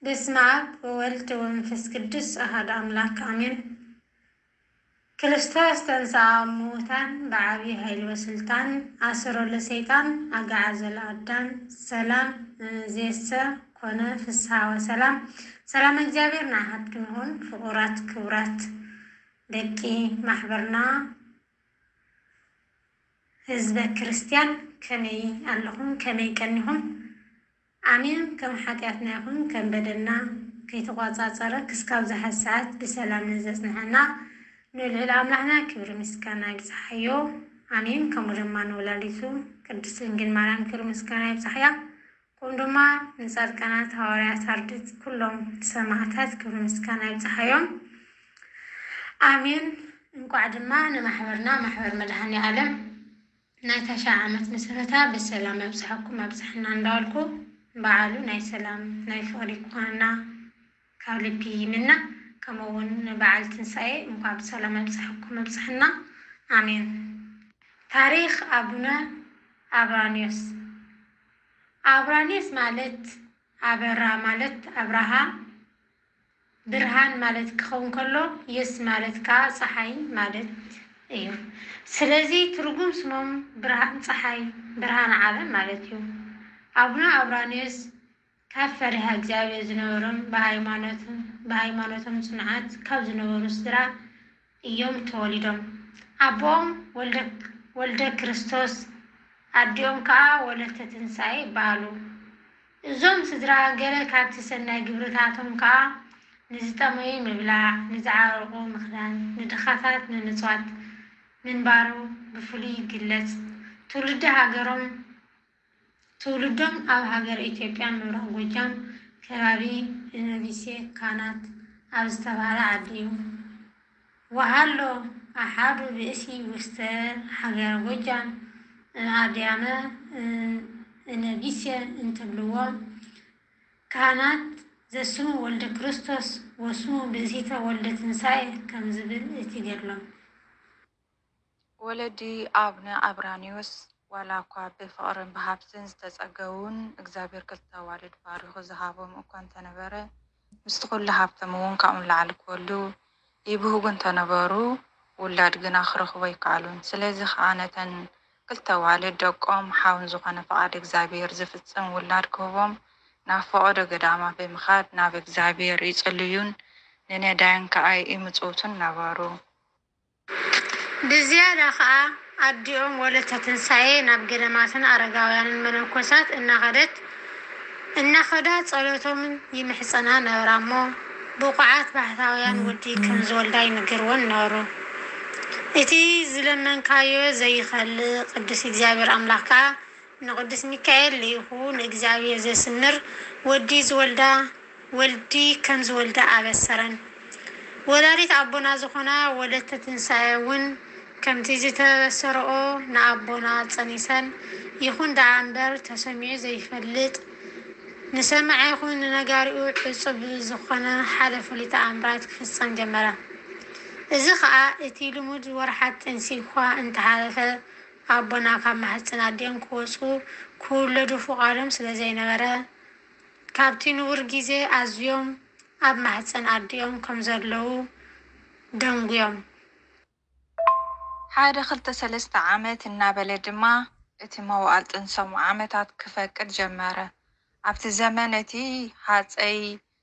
በስመ አብ ወወልድ ወመንፈስ ቅዱስ አሐዱ አምላክ አሜን። ክርስቶስ ተንሥአ እሙታን በዐቢይ ኃይል ወስልጣን አሰሮ ለሰይጣን አግዓዞ ለአዳም ሰላም እምይእዜሰ ኮነ ፍስሐ ወሰላም። ሰላም እግዚኣብሔር ንዓኻትኩም ይኹን። ፍቑራት ክቡራት ደቂ ማሕበርና ህዝበ ክርስቲያን ከመይ ኣለኹም? ከመይ ቀኒኹም? ኣሜን። ከም ሓጢኣትና ይኹን ከም በደልና ከይተቋጻጸረ ክስካብ ዝሓ ሰዓት ብሰላም ንዘጽንሐና ንልዑል ኣምላኽና ክብሪ ምስጋና ይብጽሓዮ። ኣሜን። ከምኡ ድማ ንወላዲቱ ቅድስት ድንግል ማርያም ክብሪ ምስጋና ይብጽሓያ። ከምኡ ድማ ንጻድቃናት ሃዋርያት ኣርድእት ኩሎም ሰማዕታት ክብሪ ምስጋና ይብጽሓዮም። ኣሜን። እንቋዕ ድማ ንማሕበርና ማሕበር መድኃኔ ዓለም ናይ ታሽዓ ዓመት መሰረታ ብሰላም ኣብጽሐኩም ኣብጽሐና እንዳበልኩ በዓሉ ናይ ሰላም ናይ ፍቕሪ ክኾነና ካብ ልቢ ይምነ። ከምኡ እውን ንበዓል ትንሳኤ እንኳዕ ብሰላም ኣብጽሐኩም ኣብጽሐና። ኣሜን። ታሪኽ ኣቡነ ኣብራንዮስ። ኣብራንዮስ ማለት ኣበራ ማለት ኣብርሃ ብርሃን ማለት ክኸውን ከሎ የስ ማለት ከዓ ፀሓይ ማለት እዩ። ስለዚ ትርጉም ስሞም ብርሃን ፀሓይ ብርሃን ዓለም ማለት እዩ። ኣቡነ ኣብራንዮስ ካብ ፈሪሃ እግዚኣብሔር ዝነበሮም ብሃይማኖቶም ብሃይማኖቶም ጽኑዓት ካብ ዝነበሩ ስድራ እዮም ተወሊዶም። ኣቦኦም ወልደ ወልደ ክርስቶስ ኣዲኦም ከኣ ወለተ ትንሳኤ ይበሃሉ። እዞም ስድራ ገለ ካብቲ ሰናይ ግብርታቶም ከኣ ንዝጠመዩ ምብላዕ፣ ንዝዓረቑ ምኽዳን፣ ንድኻታት ንምጽዋት ምንባሩ ብፍሉይ ይግለጽ። ትውልዲ ሃገሮም ትውልዶም ኣብ ሃገረ ኢትዮጵያ ምብራቕ ጎጃም ከባቢ እነቢሴ ካናት ኣብ ዝተባህለ ዓዲ እዩ። ወሃሎ ኣሓዱ ብእሲ ውስተ ሃገረ ጎጃም እምኣድያመ እነቢሴ እንትብልዎ ካህናት ዘስሙ ወልደ ክርስቶስ ወስሙ ብእሲተ ወልደ ትንሳኤ ከም ዝብል እቲ ገድሎም። ወለዲ ኣቡነ ኣብራኒዎስ ዋላ እኳ ብፍቕርን ብሃብትን ዝተጸገዉን እግዚኣብሔር ክልተ ኣዋልድ ባሪኹ ዝሃቦም እኳ እንተነበረ ምስቲ ኩሉ ሃብቶም እውን ካብኡ ንላዕሊ ክወልዱ ይብህጉ እንተነበሩ ውላድ ግና ክረኽቡ ኣይከኣሉን። ስለዚ ኸኣ ነተን ክልተ ኣዋልድ ደቆም ሓውን ዝኾነ ፍቓድ እግዚኣብሔር ዝፍጽም ውላድ ክህቦም ናብ ፈቐዶ ገዳማት ብምኻድ ናብ እግዚኣብሔር ይጽልዩን ንነዳያን ከኣ ይምጽውቱን ነበሩ። ብዝያዳ ኸኣ ኣዲኦም ወለተ ትንሳኤ ናብ ገዳማትን ኣረጋውያንን መነኮሳት እናኸደት እናኸዳ ጸሎቶም ይምሕጸና ነበራ እሞ ብቑዓት ባህታውያን ወዲ ከም ዝወልዳ ይንገርወን ነበሩ። እቲ ዝለመንካዮ ዘይኸልእ ቅዱስ እግዚኣብሔር ኣምላኽ ከኣ ንቅዱስ ሚካኤል ልኢኹ ንእግዚኣብሔር ዘስምር ወዲ ዝወልዳ ወልዲ ከም ዝወልዳ ኣበሰረን። ወላዲት ኣቦና ዝኾና ወለተ ትንሳኤ እውን ከምቲ ዝተበሰረኦ ንኣቦና ጸኒሰን ይኹን ደኣ እምበር ተሰሚዑ ዘይፈልጥ ንሰማዒ ይኹን ንነጋሪኡ ዕጹብ ዝኾነ ሓደ ፍሉይ ተኣምራት ክፍጸም ጀመረ። እዚ ኸኣ እቲ ልሙድ ወርሓት ጥንሲ እኳ እንተሓለፈ ኣቦና ካብ ማህጸን ኣዲኦም ክወጹ ክውለዱ ፍቓዶም ስለ ዘይነበረ ካብቲ ንቡር ግዜ ኣዝዮም ኣብ ማህጸን ኣዲኦም ከም ዘለዉ ደንጉዮም። ሓደ ክልተ ሰለስተ ዓመት እናበለ ድማ እቲ መዋእል ጥንሶም ዓመታት ክፈቅድ ጀመረ። ኣብቲ ዘመን እቲ ሃጸይ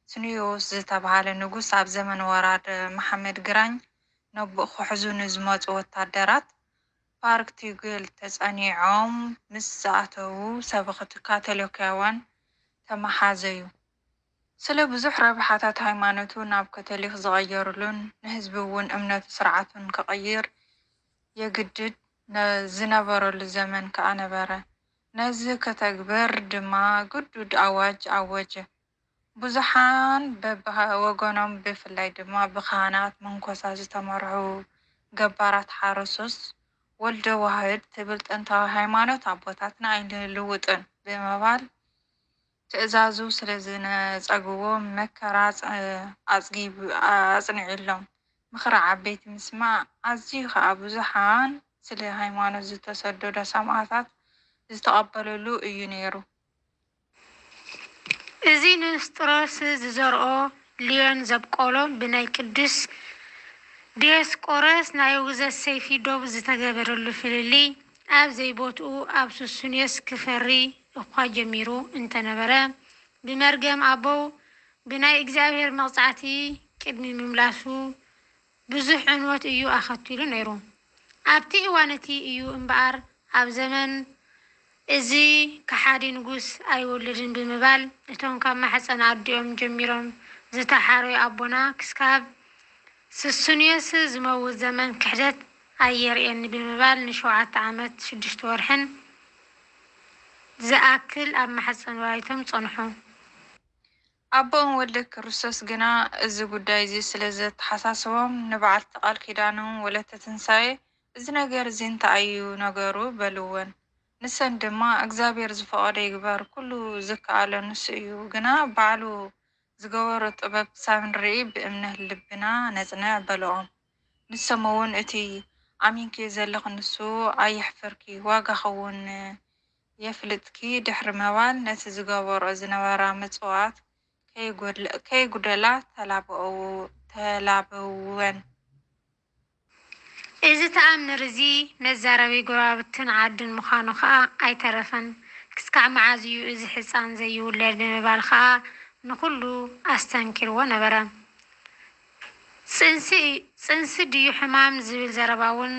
ስኑዮስ ዝተባህለ ንጉስ ኣብ ዘመን ወራር መሓመድ ግራኝ ነቦኡ ክሕዙ ንዝመጹ ወታደራት ፓርክ ቲጉል ተጸኒዖም ምስ ዝኣተዉ ሰበኽቲ ካቶሊካውያን ተመሓዘዩ። ስለ ብዙሕ ረብሓታት ሃይማኖቱ ናብ ካቶሊክ ዝቐየሩሉን ንህዝቢ እውን እምነቱ ስርዓቱን ክቕይር የግድድ ዝነበረሉ ዘመን ከኣ ነበረ። ነዚ ከተግብር ድማ ግዱድ ኣዋጅ ኣወጀ። ብዙሓን በብወገኖም ብፍላይ ድማ ብካህናት፣ መነኮሳት ዝተመርሑ ገባራት ሓረሶስ ወልደ ዋህድ ትብል ጥንታዊ ሃይማኖት ኣቦታትና ኣይንልውጥን ብምባል ትእዛዙ ስለ ዝነጸግዎ መከራ ኣጽጊቡ ኣጽኒዑሎም። ምኽሪ ዓበይቲ ምስማዕ ኣዝዩ ኸኣ ብዙሓን ስለ ሃይማኖት ዝተሰደዶ ሰማእታት ዝተቐበለሉ እዩ ነይሩ። እዚ ንስጥሮስ ዝዘርኦ፣ ልዮን ዘብቆሎ፣ ብናይ ቅዱስ ዲዮስቆሮስ ናይ ውግዘት ሰይፊ ዶብ ዝተገበረሉ ፍልልይ፣ ኣብ ዘይቦትኡ ኣብ ሱስንዮስ ክፈሪ እኳ ጀሚሩ እንተነበረ፣ ብመርገም ኣበው ብናይ እግዚኣብሔር መቕጻዕቲ ቅድሚ ምምላሱ ብዙሕ ዕንወት እዩ ኣኸቲሉ ነይሩ። ኣብቲ እዋን እቲ እዩ እምበኣር ኣብ ዘመን እዚ ከሓዲ ንጉስ ኣይወልድን ብምባል፣ እቶም ካብ ማሕፀን ኣዲኦም ጀሚሮም ዝተሓረዩ ኣቦና ክስካብ ስሱንዮስ ዝመውት ዘመን ክሕደት ኣየርእየኒ ብምባል ንሸውዓተ ዓመት ሽዱሽተ ወርሕን ዝኣክል ኣብ ማሕፀን ወላዲቶም ጸንሑ። ኣቦኦም ወልደ ክርስቶስ ግና እዚ ጉዳይ እዚ ስለ ዘተሓሳስቦም፣ ንበዓልቲ ቃል ኪዳኖም ወለተ ትንሳኤ፣ "እዚ ነገር እዚ እንታይ እዩ ነገሩ?" በልወን። ንሰን ድማ፣ "እግዚኣብሔር ዝፈቐዶ ይግበር፣ ኩሉ ዝከኣሎ ንሱ እዩ፣ ግና ባዕሉ ዝገበሮ ጥበብ ክሳብ ንርኢ ብእምነት ልብና ነጽንዕ" በልኦም። ንሶም እውን፣ "እቲ ኣሚንክዮ ዘለኺ ንሱ ኣየሕፍርኪ፣ ዋጋኺ እውን የፍልጥኪ" ድሕሪ ምባል፣ ነቲ ዝገበርኦ ዝነበራ ምጽዋት ከይጎድለ-፣ ከይጉደላ ተላበው-፣ ተላበወን። እዚ ተኣምር እዚ መዛረቢ ጎረባብትን ዓድን ምዃኑ ኸኣ ኣይተረፈን። "ክስካዕ መዓዝ እዩ እዚ ሕጻን ዘይውለድ?" ብምባል ኸኣ ንኹሉ ኣስተንኪርዎ ነበረ። "ጽንሲ፣ ጽንሲ ድዩ ሕማም?" ዝብል ዘረባ እውን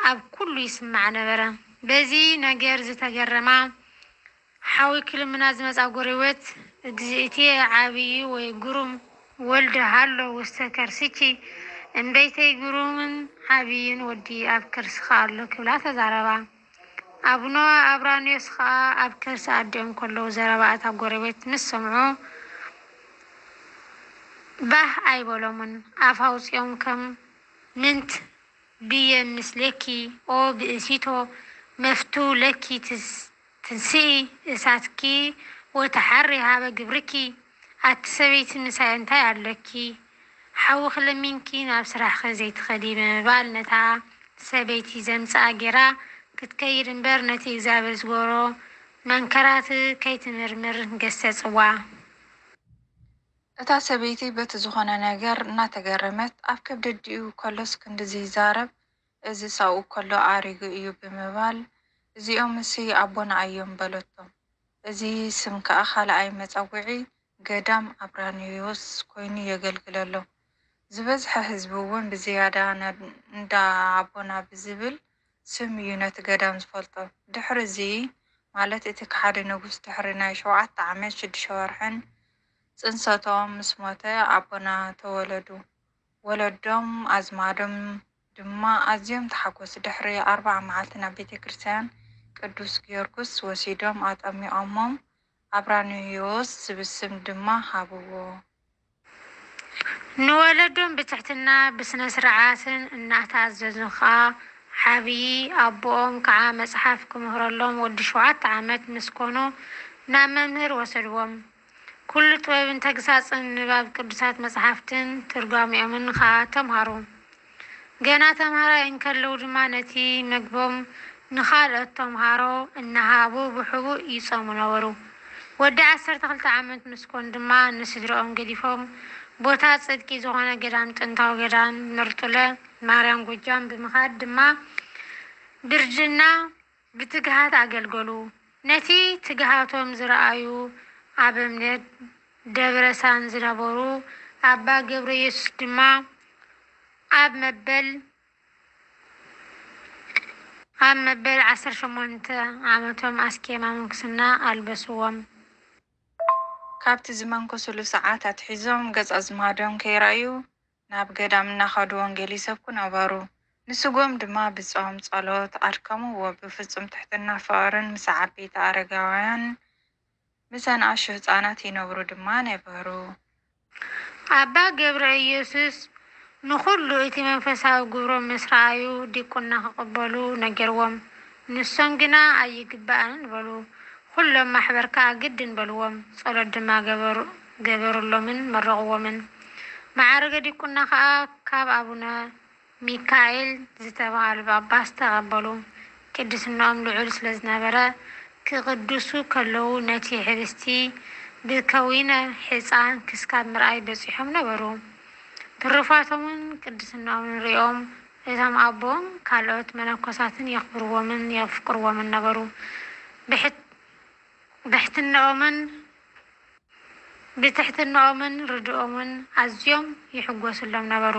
ኣብ ኩሉ ይስማዕ ነበረ። በዚ ነገር ዝተገረማ ሓዊ ክልምና ዝመጻ ጎረቤት፣ "እግዚእትየ ዓብዪ ወይ ግሩም ወልድ ሃሎ ውስተ ከርሲኪ፣ እምበይተይ ግሩምን ዓብዪን ወዲ ኣብ ከርስኻ ኣሎ" ክብላ ተዛረባ። ኣቡነ ኣብራንዮስ ኸኣ ኣብ ከርሲ ኣዲኦም ከለዉ ዘረባ እታ ጎረቤት ምስ ሰምዑ፣ ባህ ኣይበሎምን። ኣፍ ኣውጺኦም ከም ምንት ብየ ምስሌኪ ኦ ብእሲቶ መፍቱ ለኪ ትስ-፣ ትንስኢ እሳትኪ ወተሓሪ ሃበ ግብርኪ። ኣቲ ሰበይቲ ምሳይ እንታይ ኣለኪ? ሓዊ ክለሚንኪ ናብ ስራሕኺ ዘይትኸዲ ብምባል ነታ ሰበይቲ ዘምጽኣ ጌራ ክትከይድ እምበር ነቲ እግዚኣብሔር ዝገበሮ መንከራት ከይትምርምር ገሰጽዋ። እታ ሰበይቲ በቲ ዝኾነ ነገር እናተገረመት፣ ኣብ ከብዲ ኣዲኡ ከሎስ ክንድዚ ይዛረብ፣ እዚስ ኣብኡ ከሎ ኣሪጉ እዩ ብምባል፣ እዚኦምሲ ኣቦና እዮም በለቶም። እዚ ስም ከኣ ካልኣይ መጸውዒ ገዳም ኣብራንዮስ ኮይኑ የገልግል ኣሎ። ዝበዝሐ ህዝቢ እውን ብዝያዳ ነ-፣ እንዳ ኣቦና ብዝብል ስም እዩ ነቲ ገዳም ዝፈልጦ። ድሕሪ እዚ፣ ማለት እቲ ከሓዲ ንጉስ ድሕሪ ናይ ሸውዓተ ዓመት ሽዱሽተ ወርሕን ጽንሰቶም ምስ ሞተ ኣቦና ተወለዱ። ወለዶም ኣዝማዶም ድማ ኣዝዮም ተሓጎሱ። ድሕሪ ኣርብዓ መዓልቲ ናብ ቤተ ክርስቲያን ቅዱስ ጊዮርጊስ ወሲዶም ኣጠሚቖሞም፣ ኣብራንዮስ ዝብል ስም ድማ ሃብዎ። ንወለዶም ብትሕትና ብስነ ስርዓትን እናተኣዘዙ ኸኣ፣ ዓብዪ ኣቦኦም ከዓ መጽሓፍ ክምህረሎም ወዲ ሸውዓተ ዓመት ምስ ኮኑ ናብ መምህር ወሰድዎም። ኩሉ ጥበብን ተግሳጽን ንባብ ቅዱሳት መጽሓፍትን ትርጓሜኦምን ኸኣ ተምሃሩ። ገና ተምሃራይ እንከለዉ ድማ ነቲ መግቦም ንኻልኦት ተምሃሮ እናሃቡ ብሕቡእ ይጾሙ ነበሩ። ወዲ ዓሰርተ ክልተ ዓመት ምስ ኮኑ ድማ ንስድርኦም ገዲፎም ቦታ ጽድቂ ዝኾነ ገዳም፣ ጥንታዊ ገዳም ምርጡለ ማርያም ጎጃም ብምኻድ ድማ ብርጅና ብትግሃት ኣገልገሉ። ነቲ ትግሃቶም ዝረኣዩ ኣበምኔት ደብረሳን ዝነበሩ ኣባ ገብረየሱስ ድማ ኣብ መበል፣ ኣብ መበል ዓሰርተ ሸሞንተ ዓመቶም ኣስኬማ ምንኩስና ኣልበስዎም። ካብቲ ዝመንኮስሉ ሰዓት ኣትሒዞም ገጽ ኣዝማዶም ከይረኣዩ ናብ ገዳም እናኸዱ ወንጌል ይሰብኩ ነበሩ። ንስግኦም ድማ ብጾም ጸሎት ኣድከምዎ። ብፍጹም ትሕትና ፍቕርን ምስ ዓበይቲ ኣረጋውያን፣ ምስ ኣናእሽቱ ህጻናት ይነብሩ ድማ ነበሩ። ኣባ ገብረ ኢየሱስ ንኹሉ እቲ መንፈሳዊ ግብሮም ምስ ረኣዩ ዲቁና ክቕበሉ ነገርዎም። ንሶም ግና ኣይግባእን በሉ። ኩሎም ማሕበር ከኣ ግድን በልዎም። ጸሎት ድማ ገበሩ-፣ ገበሩሎምን መረቕዎምን። ማዕርገ ዲቁና ከኣ ካብ ኣቡነ ሚካኤል ዝተባህሉ ጳጳስ ተቐበሉ። ቅድስናኦም ልዑል ስለ ዝነበረ፣ ክቕድሱ ከለዉ ነቲ ሕብስቲ ብከዊነ ሕፃን ክስካብ ምርኣይ በጺሖም ነበሩ። ትሩፋቶምን ቅድስናኦምን ሪኦም፣ እቶም ኣቦን ካልኦት መነኮሳትን የኽብርዎምን የፍቅርዎምን ነበሩ። ብሕት-፣ ብሕትናኦምን ብትሕትናኦምን ርድኦምን ኣዝዮም ይሕጎስሎም ነበሩ።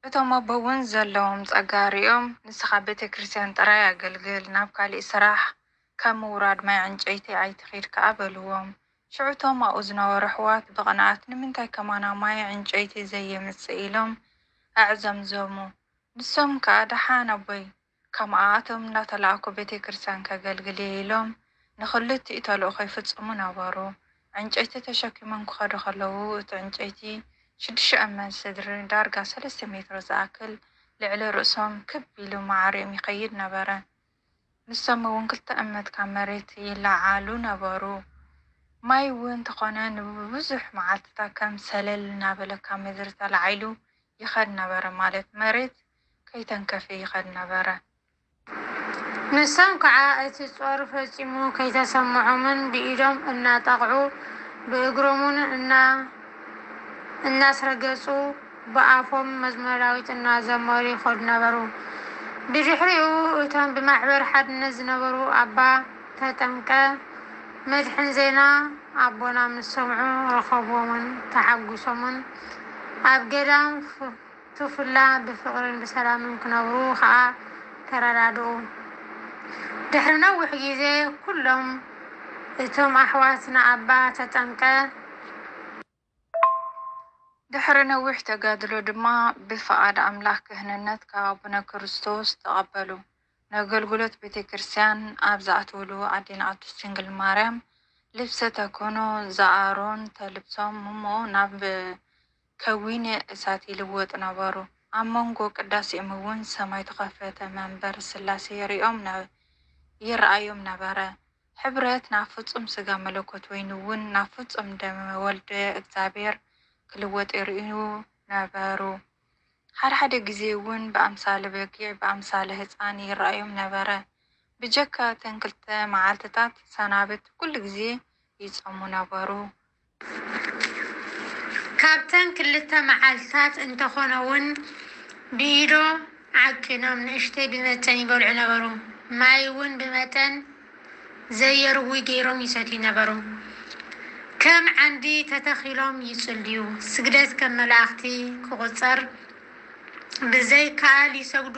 እቶም ኣቦ እውን ዘለዎም ጸጋ ሪኦም፣ "ንስኻ ቤተ ክርስቲያን ጥራይ ኣገልግል፣ ናብ ካሊእ ስራሕ፣ ካብ ምውራድ ማይ ዕንጨይቲ ኣይትኺድ ከኣ" በልዎም። ሽዑ እቶም ኣብኡ ዝነበሩ ኣሕዋት ብቕንኣት፣ "ንምንታይ ከማና ማይ ዕንጨይቲ ዘየምጽእ?" ኢሎም ኣዕዘምዘሙ። ንሶም ከኣ፣ "ደሓን ኣቦይ፣ ከማኣቶም እንዳተላእኩ ቤተ ክርስቲያን ከገልግል እየ" ኢሎም ንኽልቲኡ ተልእኾ ይፍጽሙ ነበሩ። ዕንጨይቲ ተሸኪሞም ክኸዱ ከለዉ፣ እቲ ዕንጨይቲ ሽዱሽተ እመት ስድሪ፣ ዳርጋ ሰለስተ ሜትሮ ዝኣክል፣ ልዕሊ ርእሶም ክብ ኢሉ ማዕሪኦም ይኸይድ ነበረ። ንሶም እውን ክልተ እመት ካብ መሬት ይለዓሉ ነበሩ። ማይ እውን እንተኾነ ንብዙሕ መዓልትታት ከም ሰለል እናበለ ካብ ምድሪ ተላዒሉ ይኸድ ነበረ፣ ማለት መሬት ከይተንከፈ ይኸድ ነበረ። ንሶም ከዓ እቲ ጾር ፈጺሙ ከይተሰምዖምን ብኢዶም እናጠቕዑ ብእግሮምን እና-፣ እናስረገጹ ብኣፎም መዝሙረ ዳዊት እናዘመሩ ይኸዱ ነበሩ። ብድሕሪኡ እቶም ብማሕበር ሓድነት ዝነበሩ ኣባ ተጠምቀ መድሕን ዜና ኣቦና ምስ ሰምዑ ረኸብዎምን ተሓጒሶምን ኣብ ገዳም ፍ-፣ ቱፍላ ብፍቕርን ብሰላምን ክነብሩ ኸኣ ተረዳድኡ። ድሕሪ ነዊሕ ግዜ ኩሎም እቶም ኣሕዋት ንኣባ ተጠምቀ። ድሕሪ ነዊሕ ተጋድሎ ድማ ብፍቓድ ኣምላኽ ክህንነት ካብ ኣቡነ ክርስቶስ ተቐበሉ። ነገልግሎት ቤተ ክርስቲያን ኣብ ዝኣትውሉ ኣዴና ቅድስት ድንግል ማርያም ልብሰ ተክህኖ ዘኣሮን ተልብሶም እሞ ናብ ከዊነ እሳት ይልወጡ ነበሩ። ኣብ መንጎ ቅዳሴኦም እውን ሰማይ ተኸፈተ፣ መንበር ስላሴ ይርእዮም ነ-፣ ይረኣዮም ነበረ። ሕብረት ናብ ፍጹም ስጋ መለኮት ወይኒ እውን ናብ ፍጹም ደመ ወልደ እግዚኣብሔር ክልወጥ ይርእዩ ነበሩ። ሓደ ሓደ ግዜ እውን ብኣምሳለ በጊዕ ብኣምሳለ ህጻን ይረኣዮም ነበረ። ብጀካ እተን ክልተ መዓልትታት ሰናብት ኩሉ ግዜ ይጸሙ ነበሩ። ካብተን ክልተ መዓልትታት እንተኾነ እውን ብኢዶ ዓቂኖም ንእሽተይ ብመጠን ይበልዑ ነበሩ። ማይ እውን ብመጠን ዘየርዊ ገይሮም ይሰትዩ ነበሩ። ከም ዓንዲ ተተኺሎም ይጽልዩ። ስግደት ከም መላእኽቲ ክቑጸር ብዘይከኣል ይሰግዱ።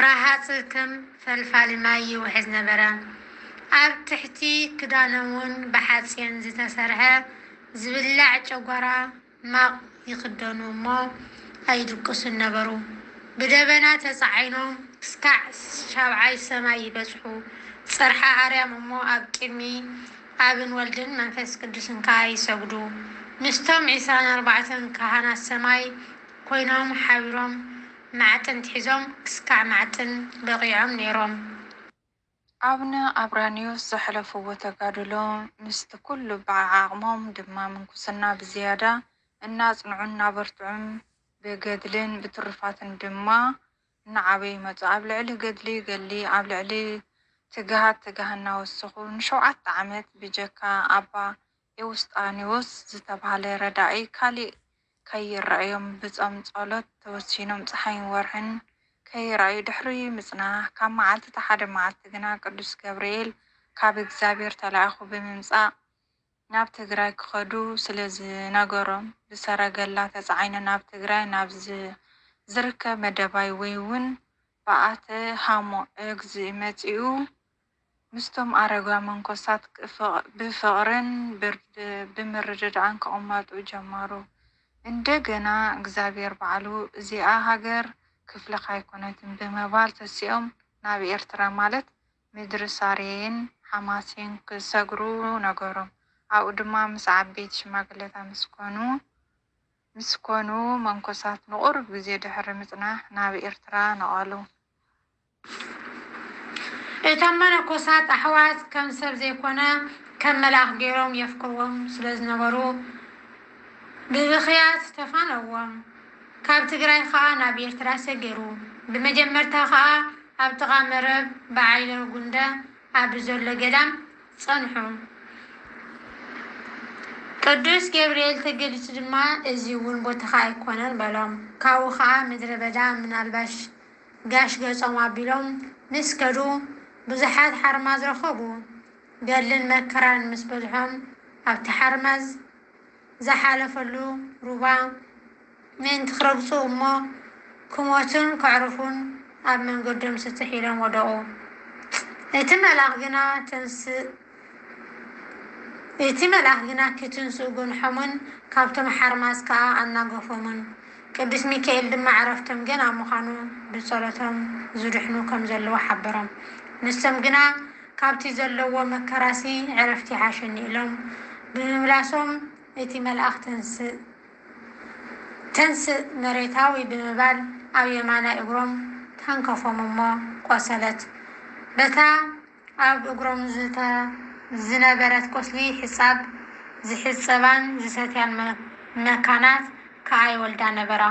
ረሃጽ ከም ፈልፋሊ ማይ ይውሕዝ ነበረ። ኣብ ትሕቲ ክዳኖም እውን ብሓጺን ዝተሰርሐ ዝብላዕ ጨጓራ ማቕ ይኽደኑ እሞ ኣይድቅሱን ነበሩ። ብደበና ተጻዒኖም ክሳዕ ሻብዓይ ሰማይ ይበጽሑ። ጽርሓ ኣርያም እሞ ኣብ ቅድሚ ኣብን ወልድን መንፈስ ቅዱስን ከኣ ይሰግዱ። ምስቶም ዒስራን ኣርባዕተን ካህናት ሰማይ ኮይኖም ሓቢሮም ማዕጥንት ሒዞም ክስካዕ ማዕጥን በቒዖም ነይሮም። ኣቡነ ኣብራኒዮስ ዘሕለፍዎ ተጋድሎ ምስቲ ኩሉ ብዓዓቕሞም ድማ ምንኩስና ብዝያዳ እናጽንዑን እናበርትዑን ብገድልን ብትሩፋትን ድማ እናዓበዩ መጹ። ኣብ ልዕሊ ገድሊ ገድሊ፣ ኣብ ልዕሊ ትግሃት ትግሃት እናወሰኹ ንሸውዓተ ዓመት ብጀካ ኣባ ኤውስጣኒዎስ ዝተባህለ ረዳኢ ካሊእ ከይረኣዮም ብጾም ጸሎት ተወሲኖም ጸሓይን ወርሕን ከይረኣዩ ድሕሪ ምጽናሕ፣ ካብ መዓልትታት ሓደ መዓልቲ ግና ቅዱስ ገብርኤል ካብ እግዚኣብሔር ተላኢኹ ብምምጻእ ናብ ትግራይ ክኸዱ ስለ ዝነገሮም ብሰረገላ ተጻዒኖም ናብ ትግራይ ናብ ዝ-፣ ዝርከብ መደባይ ወይ እውን በዓተ ሃሞ እግዚእ መጺኡ ምስቶም ኣረጋውያን መነኮሳት ክፍ-፣ ብፍቕርን ብርድ-፣ ብምርድዳእን ክቕመጡ ጀመሩ። እንደገና እግዚኣብሔር ባዕሉ እዚኣ ሃገር ክፍልኻ ኣይኮነትን ብምባል ተሲኦም ናብ ኤርትራ ማለት ምድሪ ሳሬን ሓማሴን ክሰግሩ ነገሮም። ኣብኡ ድማ ምስ ዓበይቲ ሽማግለታት ምስ ኮኑ፣ ምስ ኮኑ መነኮሳት ንቑሩብ ግዜ ድሕሪ ምጽናሕ ናብ ኤርትራ ነቐሉ። እቶም መነኮሳት ኣሕዋት ከም ሰብ ዘይኮነ ከም መልኣኽ ገይሮም የፍቅርዎም ስለ ዝነበሩ ብብኽያት ተፋነዎም። ካብ ትግራይ ኸኣ ናብ ኤርትራ ሰገሩ። ብመጀመርታ ኸኣ ኣብ ጥቓ መረብ በዓይለ ጉንደ ኣብ ዘሎ ገዳም ጸንሑ። ቅዱስ ገብርኤል ተገሊጹ ድማ፣ እዚ እውን ቦታኻ ኣይኮነን በሎም። ካብኡ ኸኣ ምድረ በዳ ምናልባሽ ጋሽ ገጾም ኣቢሎም ምስ ከዱ፣ ብዙሓት ሓርማዝ ረኸቡ። ገድልን መከራን ምስ በዝሖም፣ ኣብቲ ሓርማዝ ዝሓለፈሉ ሩባ ምእንቲ ክረግጹ እሞ ክሞቱን ከዕርፉን ኣብ መንገዶም ስጥሕ ኢሎም ወደቑ። እቲ መልኣኽ ግና ተንስእ እቲ መልኣኽ ግና ክትንስኡ ገንሖምን ካብቶም ሓርማዝ ከኣ ኣናገፎምን። ቅዱስ ሚካኤል ድማ ዕረፍቶም ገና ምዃኑ ብጸሎቶም ዝድሕኑ ከም ዘለዉ ሓበሮም። ንሶም ግና ካብቲ ዘለዎ መከራሲ ዕረፍቲ ይሓሸኒ ኢሎም ብምምላሶም እቲ መልኣኽ ተንስእ ተንስእ መሬታዊ ብምባል ኣብ የማናይ እግሮም ተንከፎም እሞ ቆሰለት። በታ ኣብ እግሮም ዝተ- ዝነበረት ቁስሊ ሕጻብ ዝሕጸባን ዝሰትያን መ- መካናት ከኣ ይወልዳ ነበራ።